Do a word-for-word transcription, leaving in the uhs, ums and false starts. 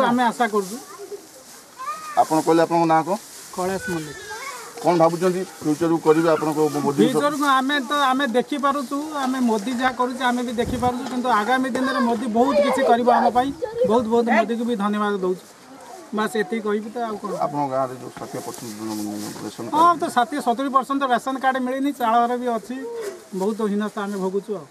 ଆମେ ଆଶା କରୁଛୁ। ଆପଣ କହିଲେ ଆପଣଙ୍କ ନାଁ କ'ଣ? କୈଳାସ ମଲ୍ଲିକ। କ'ଣ ଭାବୁଛନ୍ତି ଫ୍ୟୁଚରକୁ କରିବେ ଆପଣଙ୍କ ମୋଦି? ଫ୍ୟୁଚରକୁ ଆମେ ତ ଆମେ ଦେଖିପାରୁଛୁ, ଆମେ ମୋଦି ଯାହା କରୁଛି ଆମେ ବି ଦେଖିପାରୁଛୁ। କିନ୍ତୁ ଆଗାମୀ ଦିନରେ ମୋଦି ବହୁତ କିଛି କରିବ ଆମ ପାଇଁ। ବହୁତ ବହୁତ ମୋଦିକୁ ବି ଧନ୍ୟବାଦ ଦେଉଛୁ। ବାସ୍, ଏତିକି କହିବି ତ ଆଉ କ'ଣ। ଆପଣଙ୍କ ଗାଁରେ ଯେଉଁ ଷାଠିଏ ପରସେଣ୍ଟ ରେସନ? ହଁ, ତ ଷାଠିଏ ସତୁରି ପରସେଣ୍ଟ ରେସନ କାର୍ଡ଼ ମିଳିନି, ଚାଳ ଘର ବି ଅଛି, ବହୁତ ହୀନସ୍ତା ଆମେ ଭୋଗୁଛୁ ଆଉ।